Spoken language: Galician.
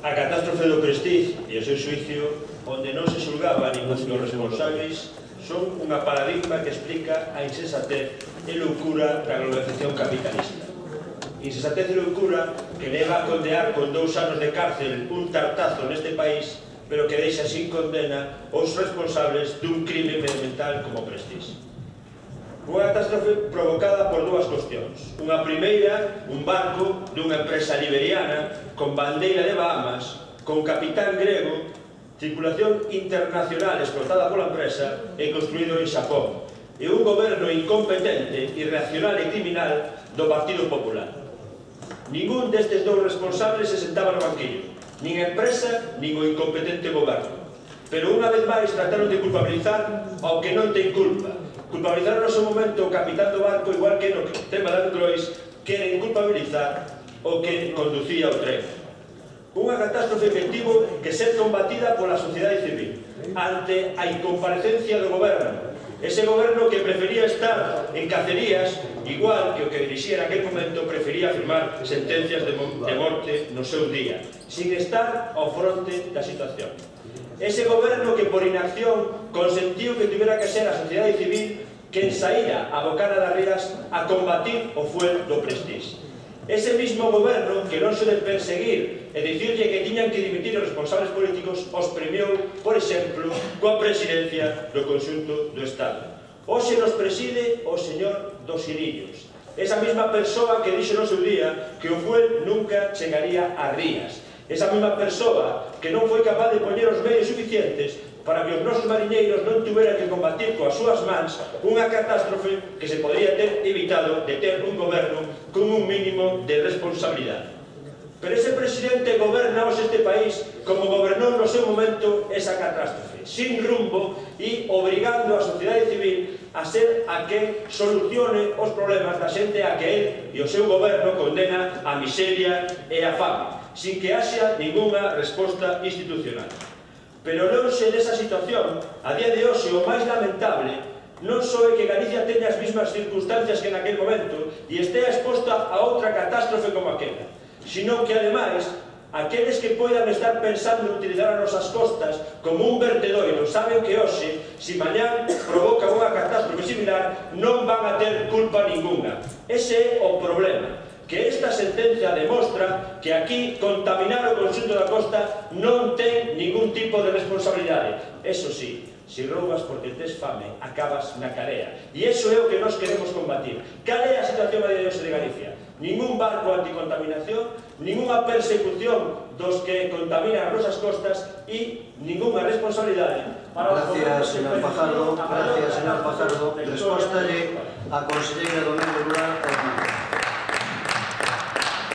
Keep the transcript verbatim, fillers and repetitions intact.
A catástrofe do Prestige e o seu xuicio, onde non se xulgaba a ningún dos responsables, son unha paradigma que explica a insensatez e loucura da globalización capitalista. Insensatez e loucura que leva a condear con dous anos de cárcel un tartazo neste país, pero que deixa sin condena os responsables dun crime medioambiental como Prestige. Unha catástrofe provocada por dúas cuestións. Unha primeira, un barco dunha empresa liberiana con bandeira de Bahamas, con capitán grego, tripulación internacional explotada pola empresa e construído en Xapón, e un goberno incompetente, irracional e criminal do Partido Popular. Ningún destes dous responsables se sentaba no banquillo, nin a empresa, nin o incompetente goberno. Pero unha vez máis trataron de culpabilizar ao que non ten culpa. Culpabilizaron no seu momento o capitán do barco, igual que no tema da Angrois, queren culpabilizar o que conducía o tren. Unha catástrofe que tivo que ser combatida pola sociedade civil ante a incomparecencia do goberno. Ese goberno que prefería estar en cacerías, igual que o que dirixía en aquel momento prefería firmar sentencias de morte no seu día, sin estar ao fronte da situación. Ese goberno que por inacción consentiu que tivera que ser a sociedade civil quen saíra a bocana das rías a combatir o fuel do Prestige. Ese mismo goberno que non se de perseguir e dicirlle que tiñan que dimitir os responsables políticos os premiou, por exemplo, coa presidencia do conxunto do Estado. Hoxe nos preside o señor dos Irillos, esa mesma persoa que dixo no seu día que o fuel nunca chegaría a rías. Esa mesma persoa que non foi capaz de poñer os medios suficientes para que os nosos mariñeiros non tuveran que combatir coas súas mans unha catástrofe que se podría ter evitado de ter un goberno con un mínimo de responsabilidade. Pero ese presidente goberna hoxe este país como gobernou no seu momento esa catástrofe, sin rumbo e obrigando a sociedade civil a ser a que solucione os problemas da xente a que el e o seu goberno condena a miseria e a fame, sin que haxa ninguna resposta institucional. Pero lonxe desa situación, a día de hoxe o máis lamentable non só é que Galicia teña as mesmas circunstancias que naquele momento e estea exposta a outra catástrofe como aquela, sino que, ademais, aqueles que poidan estar pensando en utilizar as nosas costas como un vertedoiro saben que hoxe, se mañán provoca unha catástrofe similar, non van a ter culpa ninguna. Ese é o problema, que esta sentencia demostra que aquí contaminar o conxunto da costa non ten ningún tipo de responsabilidade. Eso sí, se roubas porque tes fame, acabas na carea. E iso é o que nós queremos combatir. Cal é a situación a día de hoxe de Galicia? Ningún barco anticontaminación, ninguna persecución dos que contaminan as nosas costas e ninguna responsabilidade. Gracias, señor Fajardo. Gracias, señor Fajardo. Respóstalle a conselleira do Medio Rural.